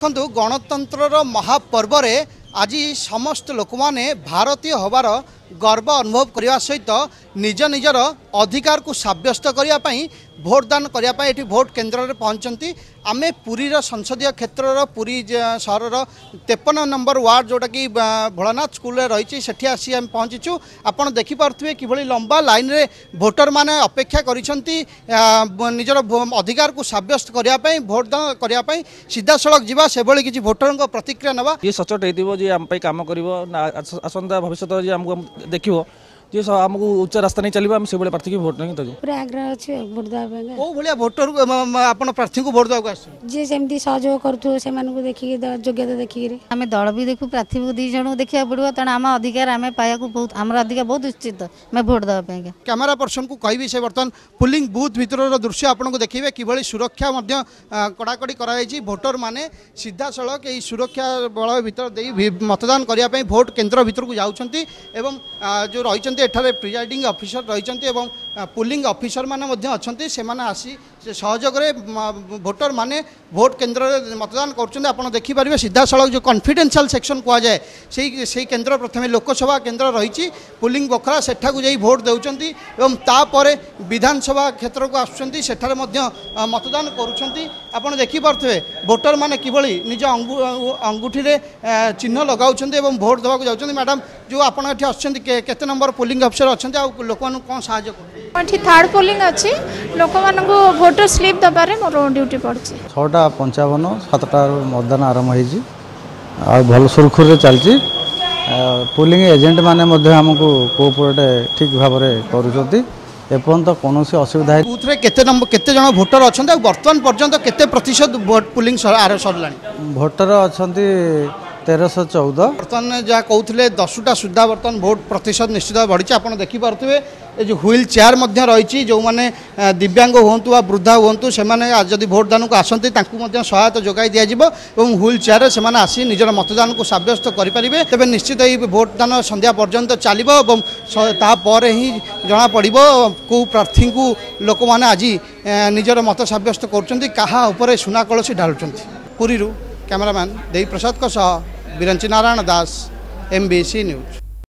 ଦେଖନ୍ତୁ, ଗଣତନ୍ତ୍ରର ମହାପର୍ବରେ ଆଜି ସମସ୍ତ ଲୋକମାନେ ଭାରତୀୟ ହେବାର ଗର୍ବ ଅନୁଭବ କରିବା ସହିତ ନିଜ ନିଜର ଅଧିକାରକୁ ସାବ୍ୟସ୍ତ କରିବା ପାଇଁ ଭୋଟଦାନ କରିବା ପାଇଁ ଏଠି ଭୋଟ କେନ୍ଦ୍ରରେ ପହଞ୍ଚନ୍ତି। ଆମେ ପୁରୀର ସଂସଦୀୟ କ୍ଷେତ୍ରର ପୁରୀ ସହରର 53 ନମ୍ବର ୱାର୍ଡ଼, ଯେଉଁଟାକି ଭୋଳାନାଥ ସ୍କୁଲରେ ରହିଛି, ସେଠି ଆସି ଆମେ ପହଞ୍ଚିଛୁ। ଆପଣ ଦେଖିପାରୁଥିବେ କିଭଳି ଲମ୍ବା ଲାଇନ୍ରେ ଭୋଟରମାନେ ଅପେକ୍ଷା କରିଛନ୍ତି ନିଜର ଅଧିକାରକୁ ସାବ୍ୟସ୍ତ କରିବା ପାଇଁ, ଭୋଟଦାନ କରିବା ପାଇଁ। ସିଧାସଳଖ ଯିବା, ସେଭଳି କିଛି ଭୋଟରଙ୍କ ପ୍ରତିକ୍ରିୟା ନେବା। ଯିଏ ସଚୋଟ ହେଇଥିବ, ଯିଏ ଆମ ପାଇଁ କାମ କରିବ, ଆସନ୍ତା ଭବିଷ୍ୟତ ଯିଏ ଆମକୁ ଦେଖିବ, ଯିଏ ଆମକୁ ଉଚ୍ଚ ରାସ୍ତା ନେଇ ଚାଲିବ, ଆମେ ସେଇଭଳିଆ ପ୍ରାର୍ଥୀକି ଭୋଟ ନେଇକି ଦେବୁ। ପୁରା ଆଗ୍ରହ ଅଛି ଭୋଟ ଦେବା ପାଇଁ। କେଉଁ ଭଳିଆ ଭୋଟର ଆପଣ ପ୍ରାର୍ଥୀଙ୍କୁ ଭୋଟ ଦେବାକୁ ଆସିଛନ୍ତି? ଯିଏ ସେମିତି ସହଯୋଗ କରୁଥିବ, ସେମାନଙ୍କୁ ଦେଖିକି, ଯୋଗ୍ୟତା ଦେଖିକିରି। ଆମେ ଦଳ ବି ଦେଖୁ, ପ୍ରାର୍ଥୀ ଦୁଇ ଜଣଙ୍କୁ ଦେଖିବାକୁ ପଡ଼ିବ। ତେଣୁ ଆମ ଅଧିକାର ଆମେ ପାଇବାକୁ ବହୁତ, ଆମର ଅଧିକାର ବହୁତ ଉଚିତ ଆମେ ଭୋଟ ଦେବା ପାଇଁ। କ୍ୟାମେରା ପର୍ସନକୁ କହିବି, ସେ ବର୍ତ୍ତମାନ ପୁଲିଂ ବୁଥ୍ ଭିତରର ଦୃଶ୍ୟ ଆପଣଙ୍କୁ ଦେଖିବେ କିଭଳି ସୁରକ୍ଷା ମଧ୍ୟ କଡ଼ାକଡ଼ି କରାଯାଇଛି। ଭୋଟର ମାନେ ସିଧାସଳଖ ଏହି ସୁରକ୍ଷା ବଳୟ ଭିତର ଦେଇ ମତଦାନ କରିବା ପାଇଁ ଭୋଟ କେନ୍ଦ୍ର ଭିତରକୁ ଯାଉଛନ୍ତି ଏବଂ ଯେଉଁ ରହିଛନ୍ତି ଏଠାରେ ପ୍ରିଜାଇଡ଼ିଂ ଅଫିସର ରହିଛନ୍ତି ଏବଂ ପୁଲିଂ ଅଫିସର ମାନେ ମଧ୍ୟ ଅଛନ୍ତି, ସେମାନେ ଆସି ସେ ସହଯୋଗରେ ଭୋଟର ମାନେ ଭୋଟ କେନ୍ଦ୍ରରେ ମତଦାନ କରୁଛନ୍ତି। ଆପଣ ଦେଖିପାରିବେ ସିଧାସଳଖ ଯେଉଁ କନଫିଡେନ୍ସିଆଲ ସେକ୍ସନ୍ କୁହାଯାଏ, ସେଇ କେନ୍ଦ୍ର ପ୍ରଥମେ ଲୋକସଭା କେନ୍ଦ୍ର ରହିଛି, ପୁଲିଂ ବଖରା, ସେଠାକୁ ଯାଇ ଭୋଟ ଦେଉଛନ୍ତି ଏବଂ ତାପରେ ବିଧାନସଭା କ୍ଷେତ୍ରକୁ ଆସୁଛନ୍ତି, ସେଠାରେ ମଧ୍ୟ ମତଦାନ କରୁଛନ୍ତି। ଆପଣ ଦେଖିପାରୁଥିବେ ଭୋଟର ମାନେ କିଭଳି ନିଜ ଅଙ୍ଗୁଠିରେ ଚିହ୍ନ ଲଗାଉଛନ୍ତି ଏବଂ ଭୋଟ ଦେବାକୁ ଯାଉଛନ୍ତି। ମ୍ୟାଡ଼ାମ୍, ଯେଉଁ ଆପଣ ଏଠି ଆସୁଛନ୍ତି, କେତେ ନମ୍ବର ପୋଲିଂ ଅଫିସର ଅଛନ୍ତି ଆଉ ଲୋକମାନଙ୍କୁ କ'ଣ ସାହାଯ୍ୟ କରୁଛନ୍ତି? ଏଠି ଥାର୍ଡ଼ ପୋଲିଂ ଅଛି। ଲୋକମାନଙ୍କୁ ଭୋଟର ସ୍ଲିପ୍ ଦେବାରେ ମୋର ଡ୍ୟୁଟି ପଡ଼ିଛି। 6ଟା 55, 7ଟାରୁ ମତଦାନ ଆରମ୍ଭ ହେଇଛି ଆଉ ଭଲ ସୁରୁଖୁରୁରେ ଚାଲିଛି। ପୋଲିଂ ଏଜେଣ୍ଟ ମାନେ ମଧ୍ୟ ଆମକୁ କୋଅପରେଟ୍ ଠିକ୍ ଭାବରେ କରୁଛନ୍ତି। ଏପର୍ଯ୍ୟନ୍ତ କୌଣସି ଅସୁବିଧା ବୁଥରେ କେତେ ନମ୍ବର, କେତେ ଜଣ ଭୋଟର ଅଛନ୍ତି ଆଉ ବର୍ତ୍ତମାନ ପର୍ଯ୍ୟନ୍ତ କେତେ ପ୍ରତିଶତ ଭୋଟ ପୁଲିଂ ସରିଲାଣି? ଭୋଟର ଅଛନ୍ତି 1314। ବର୍ତ୍ତମାନ ଯାହା କହୁଥିଲେ, 10ଟା ସୁଦ୍ଧା ବର୍ତ୍ତମାନ ଭୋଟ ପ୍ରତିଶତ ନିଶ୍ଚିତ ବଢ଼ିଛି। ଆପଣ ଦେଖିପାରୁଥିବେ ଏ ଯେଉଁ ହ୍ୱିଲ୍ ଚେୟାର ମଧ୍ୟ ରହିଛି, ଯେଉଁମାନେ ଦିବ୍ୟାଙ୍ଗ ହୁଅନ୍ତୁ ବା ବୃଦ୍ଧା ହୁଅନ୍ତୁ, ସେମାନେ ଯଦି ଭୋଟଦାନକୁ ଆସନ୍ତି ତାଙ୍କୁ ମଧ୍ୟ ସହାୟତା ଯୋଗାଇ ଦିଆଯିବ ଏବଂ ହ୍ୱିଲ୍ ଚେୟାରରେ ସେମାନେ ଆସି ନିଜର ମତଦାନକୁ ସାବ୍ୟସ୍ତ କରିପାରିବେ। ତେବେ ନିଶ୍ଚିତ ଏହି ଭୋଟଦାନ ସନ୍ଧ୍ୟା ପର୍ଯ୍ୟନ୍ତ ଚାଲିବ ଏବଂ ତାପରେ ହିଁ ଜଣାପଡ଼ିବ କେଉଁ ପ୍ରାର୍ଥୀଙ୍କୁ ଲୋକମାନେ ଆଜି ନିଜର ମତ ସାବ୍ୟସ୍ତ କରୁଛନ୍ତି, କାହା ଉପରେ ସୁନା କଳସୀ ଢାଳୁଛନ୍ତି। ପୁରୀରୁ କ୍ୟାମେରାମ୍ୟାନ୍ ଦେବୀ ପ୍ରସାଦଙ୍କ ସହ Biranchi Narayan Das, M B C news.